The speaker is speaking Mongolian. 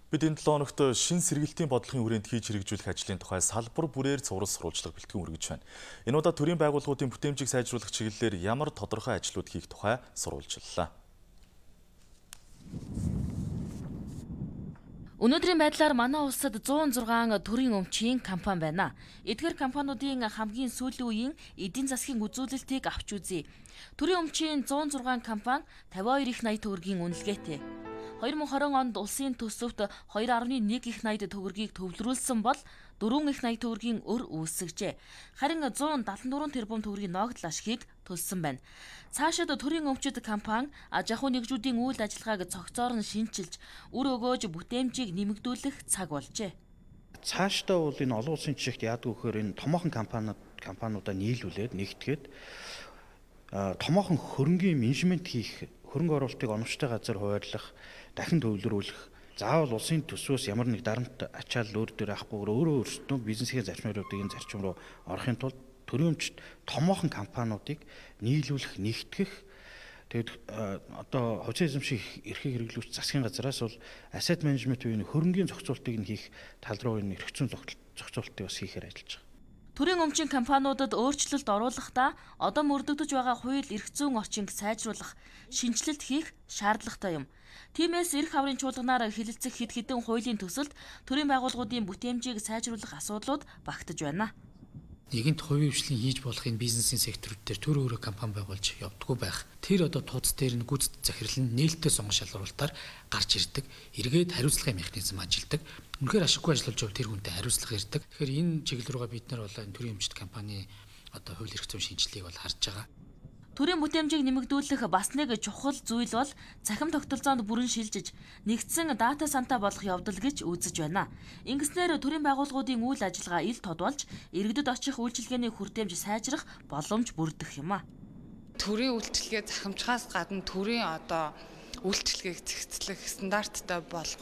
Бид энэ 7 хоногт шин сэргээлтийн бодлогын хүрээнд хийж хэрэгжүүлэх ажлын тухай салбар бүрээр цуврал сурвалжлага бэлтгэн үргэж байна. Энэ удаа төрийн байгууллагуудын бүтээмжийг сайжруулах чиглэлээр ямар тодорхой ажлууд хийх тухай сурвалжлалаа. Өнөөдрийн байдлаар манай улсад 106 төрийн өмчийн компани байна. Эдгээр компаниудын хамгийн сүүлийн үеийн эдийн засгийн үзүүлэлтийг авч үзье. Төрийн өмчийн 106 компани 52 их 80 төгрөгийн үнэлгээтэй. 2020 онд улсын төсөвт 2.1 их 80 төгрөгийг төвлөрүүлсэн бол 4 их 80 төгрөгийн өр үүсгэжээ. Харин 174 тэрбум төгрөгийн ногдол ашгийг төлсөн байна. Цаашид төрийн өмчит компани аж ахуй нэгжүүдийн үйл ажиллагааг цогцоор нь шинчилж, үр өгөөж бүтээмжийг нэмэгдүүлэх цаг болжээ. Цаашдаа бол энэ олон улсын жишгт яадаг вэхээр энэ томоохон компаниудаа нийлүүлээд нэгтгээд томоохон хөрөнгийн менежмент хийх, хөрөнгө оруулалтыг оновчтой газар хуваарлах, дахин төвлөрүүлэх, заавал улсын төсвөөс ямар нэг дарамт ачаал өөр дээр авахгүйгээр өөрөө өөрсдөө бизнесийн зарчмуудыг энэ зарчим руу орохын тулд төрийн өмчт томоохон компаниудыг нийлүүлэх, нэгтгэх. Тэгэд одоо хувьцаа эзэмших эрхийг хэрэглүүлэх засгийн газраас бол asset management буюу хөрөнгийн зохицуултыг нь хийх тал руу энэ эрхцүүн зохицуултыг бас хийхээр ажиллаж байгаа. Төрийн өмчийн компаниудад өөрчлөлт оруулахдаа одоо мөрдөгдөж байгаа хууль эрх зүйн орчинг сайжруулах, шинжилэлт хийх шаардлагатай юм. Тиймээс эрх аврын чуулганаар хилэлцэх хэд хэдэн хуулийн төсөлд төрийн байгууллагуудын бүтээмжийг сайжруулах асуудлууд багтаж байна. Нэгэнт хувийн хвшлийн хийж болох энэ бизнесийн секторууд дээр төр өөрө компани байгуулж явдаггүй байх. Тэр одоо тууц дээр нь гүйцэд захирал нь нээлттэй сонгон шалгуулалтаар гарч ирдэг. Эргээд хариуцлагын механизм ажилладаг. Үнэхээр ашиггүй ажиллаж бол тэр хүнтэй хариуцлага ирдэг. Тэгэхээр энэ чиглэл рүүгээ бид нар бол энэ төрийн өмчт компани одоо хууль эрх зүйн шинжилгээг бол харж байгаа. Төрийн бүтээмжийг нэмэгдүүлэх бас нэг чухал зүйл бол цахим тогтолцоонд бүрэн шилжиж нэгдсэн дата сантаа болох явдал гэж үзэж байна. Ингэснээр төрийн байгууллагуудын үйл ажиллагаа ил тод болж иргэдэд очих үйлчилгээний хүртээмж сайжрах боломж бүрдэх юм а. Төрийн үйлчилгээ захимжхаас гадна төрийн одоо үйлчилгээг зэгцлэх стандарттай болгох